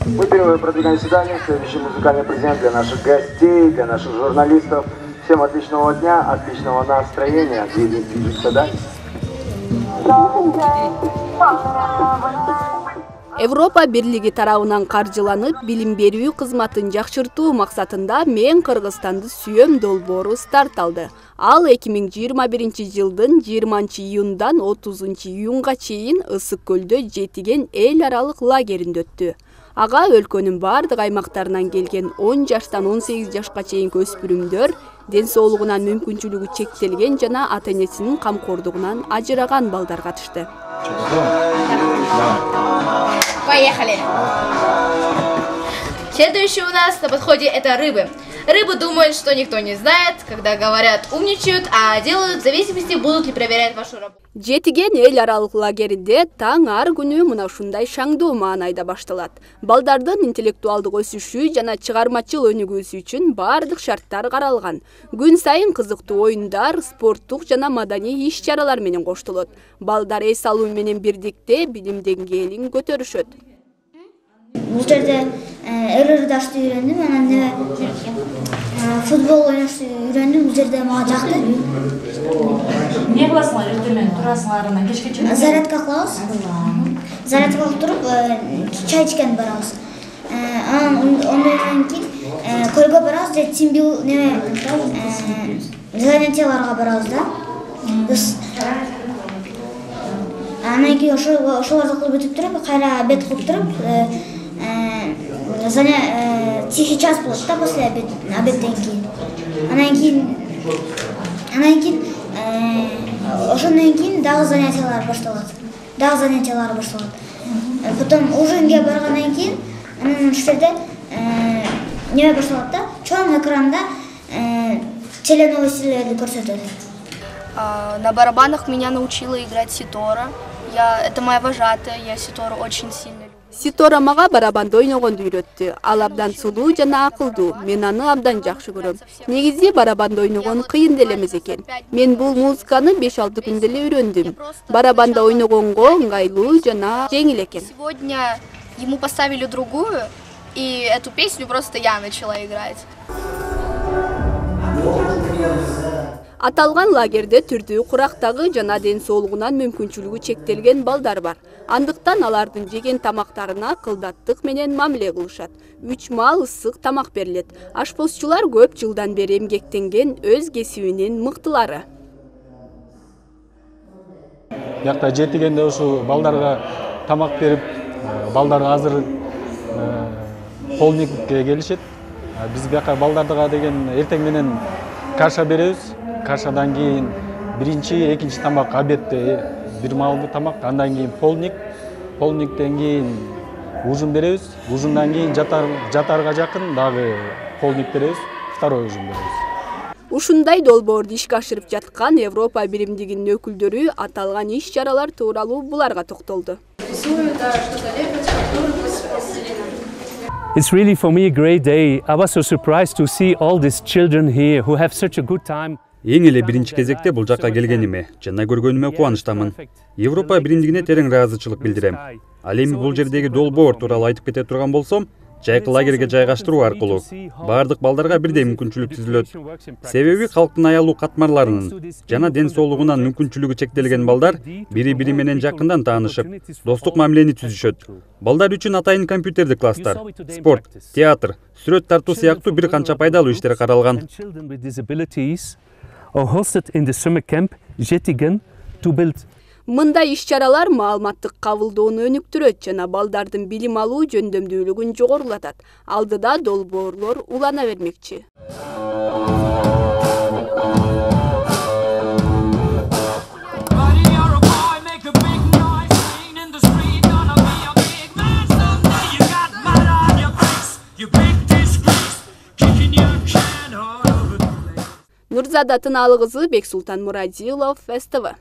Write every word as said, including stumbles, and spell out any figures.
Мы впервые продвигаем заседание. Следующий музыкальный презент для наших гостей, для наших журналистов. Всем отличного дня, отличного настроения. Движемся дальше. Европа бирлиги тарабынан каржыланып, билим берүү кызматын жакшыртуу максатында Мен Кыргызстанды сүйөм долбоору старт алды. Ал эки миң жыйырма биринчи жылдын жыйырманчы июндан отузунчу июнга чейин Ысык көлдө Жетиген эл аралык лагеринде өттү. Ага өлкөнүн бардык аймактарынан келген он жаштан он сегиз жашка чейинки өспүрүмдөр, ден соолугунан мүмкүнчүлүгү чектелген жана ата-энесинин камкордугунан ажыраган балдар катышты. Поехали! Следующий у нас на подходе это рыбы. Рыбы думают, что никто не знает, когда говорят умничают, а делают в зависимости, будут ли проверять вашу работу. Жетиген эл аралык лагеринде таң ар күнү мына ушундай шаңдуу маанайда башталат. Балдардын интеллектуалдык өсүшү жана чыгармачыл өнүгүүсү үчүн баардык шарттар каралган. Күн сайын кызыктуу оюндар, спорттук жана маданий иш-чаралар менен коштолот. Балдар эс алуу менен бирдикте билим деңгээлин көтөрүшөт. Бул жерде ыр-ырдашты үйрөндүм, анан эле футбол ойношду үйрөндүм. Бул жерде мага жакты. Эмне кыласыңар эртең турасыңар, анан кечке чейин? Зарядка кылабыз. Зарядка кылып туруп, чай ичкен барабыз. Анан ондон кийин көлгө барабыз, же тимбил неме занятияларга барабыз да. Анан кийин ошолорду кылып бүтүп туруп, кайра обед кылып туруп, тихий час болот да после обедден кийин. Анан кийин анан кийин ошондон кийин дагы занятиялар башталат. Дагы занятиялар башталат. Потом ужинге баргандан кийин анан ушул жерде неме башталат да, чоң экранда теленовостилерди көрсөтөт. На барабанах меня научила играть ситора. Я, это моя вожатая, я ситору очень сильно люблю. Ситора мага барабанда ойногонду үйрөттү. Ал абдан сулуу жана акылдуу. Мен аны абдан жакшы көрөм. Негизи барабанда ойногон кыйын деле эмес экен. Мен бул музыканы беш алты күндө эле үйрөндүм. Барабанда ойногонго ыңгайлуу жана жеңил экен. Сегодня ему поставили другую, и эту песню просто я начала играть. Аталган лагерде түрдүү курактагы жана ден соолугунан мүмкүнчүлүгү чектелген балдар бар. Андыктан алардын жеген тамактарына кылдаттык менен мамиле кылышат. Үч маал ысык тамак берилет. Ашпозчулар көп жылдан бери эмгектенген өз кесибинин мыктылары. Бияқта Жетигенде ушу балдарга тамак берип, балдар азыр полникке келишет. Биз бияка балдарга деген эртең менен каша беребиз. Кашадан кийин биринчи, экинчи тамак обедте бир маалдуу тамак, андан кийин полник, полниктен кийин ужин беребиз, ужиндан кийин жатар жатарга жакын дагы полник беребиз, второй ужин беребиз. Ушундай долбоорду ишке ашырып жаткан Европа биримдигинин өкүлдөрү аталган иш-чаралар тууралуу буларга токтолду. It's really for me a great day. I was so surprised to see all these children here who have such a good time. Эң эле биринчи кезекте бул жакка келгениме жана көргөнүмө кубанычтамын. Европа биримдигине терең ыраазычылык билдирем. Ал эми бул жердеги долбоор тууралуу айтып кете турган болсом, жайкы лагерге жайгаштыруу аркылуу баардык балдарга бирдей мүмкүнчүлүк түзүлөт. Себеби калктын аялуу катмарларынын жана ден соолугунан мүмкүнчүлүгү чектелген балдар бири-бири менен жакындан таанышып, достук мамилени түзүшөт. Балдар үчүн атайын компьютердик класстар, спорт, театр, сүрөт тартуу сыяктуу бир канча пайдалуу иштер каралган. Мындай иш-чаралар маалыматтык кабылдоону өнүктүрөт жана балдардын билим алуу жөндөмдүүлүгүн жогорулатат. Алдыда долбоорлор улана бермекчи. Нурзада Тынаалы кызы, Бексултан Мурадилов, эс тэ вэ.